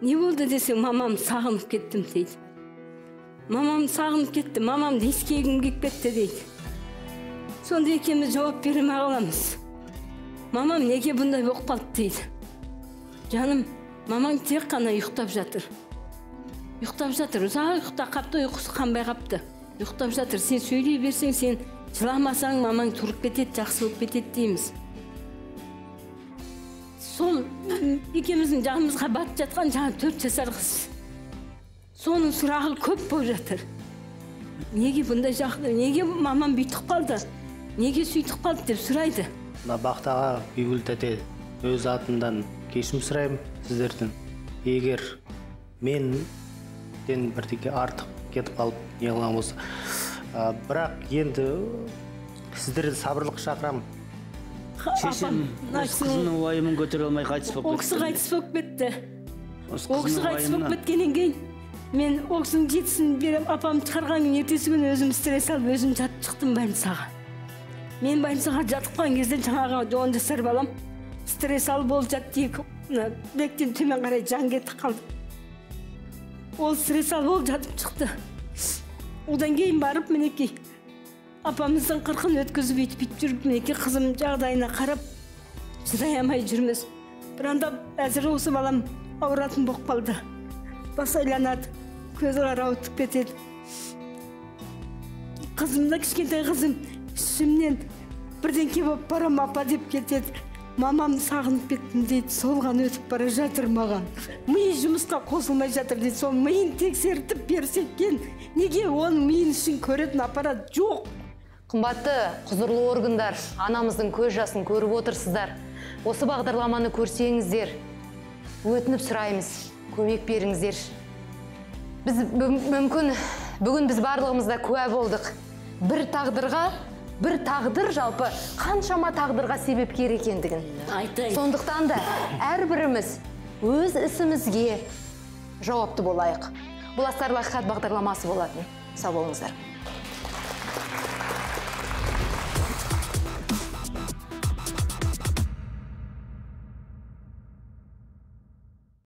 Не болды десең, мамам сағынып кеттім дейді. Мамам сағынып кетті, мамам ескегім келіп кетті дейді. Сонда екеуміз жауап беремей қаламыз. Мамам неге бұндай болып қалды дейді. Жаным, мамаң тек қана ұйықтап жатыр. Ұйықтап жатыр, ұзақ ұйықтап қапты, ұйқысы қанбай қапты. Ұйықтап жатыр, сен сөйлей берсең, сен жыламасаң, мамаң тұрып кетеді, жақсы болып кетеді дейміз. Сол екеуміздің жағымызға батып жатқан жаңа 4 жасар қыз. Соның сұрағы көп болып жатыр. Неге бұндай жағдай, неге мамам бүйтіп қалды, неге сөйтіп қалды деп сұрайды.
Бақтаға Бибігүл тәте өз атымдан кешірім сұраймын сіздерден. Егер менден бірдеңе артық кетіп қалып неғылған болса. Бірақ енді сіздерді сабырлық шақырамын.
Шешем өз қызының уайымын көтере алмай қайтыс болып кетті.
Ол кісі қайтыс болып кетті. Ол кісі қайтыс болып кеткеннен кейін мен ол кісінің жетісін беріп, апам шығарған күн ертесі күні өзім стресс алып, өзім жатып шықтым больницаға. Мен больницаға жатыққан кезде жаңағы 10 жасар балам стресс алып болып жатты, бектен төмен қарай жан кетіп қалды. Ол стресс алып болып жатып шықты. Одан кейін барып мінекей апамыздың 40-ын өткізіп өйтіп жүріп, мінекей қызым жағдайына қарап шыдай алмай жүрміз. Бір анда әзір осы балам ауыратын болып қалды. Бас айланады, көзі қарауытып кетеді. Қызымда кішкентай қызым ішімнен бірдеңке болып барам апа деп кетеді. Мамам сағынып кеттім дейді, солған өтіп бара жатыр маған. Миы жұмысқа қосылмай жатыр дейді, сол миын тексертіп берсеккен, неге оның миын үшін көретін аппарат жоқ?
Қымбатты құзырлы органдар, анамыздың көз жасын көріп отырсыздар. Осы бағдарламаны көрсеңіздер, өтініп сұраймыз, көмек беріңіздер. Біз мүмкін бүгін біз барлығымызда куә болдық. Бір тағдыр жалпы қаншама тағдырға себепкер екендігін. Сондықтан да әрбіріміз өз ісімізге жауапты болайық. Бұл астарлы ақиқат бағдарламасы болатын. Сау болыңыздар.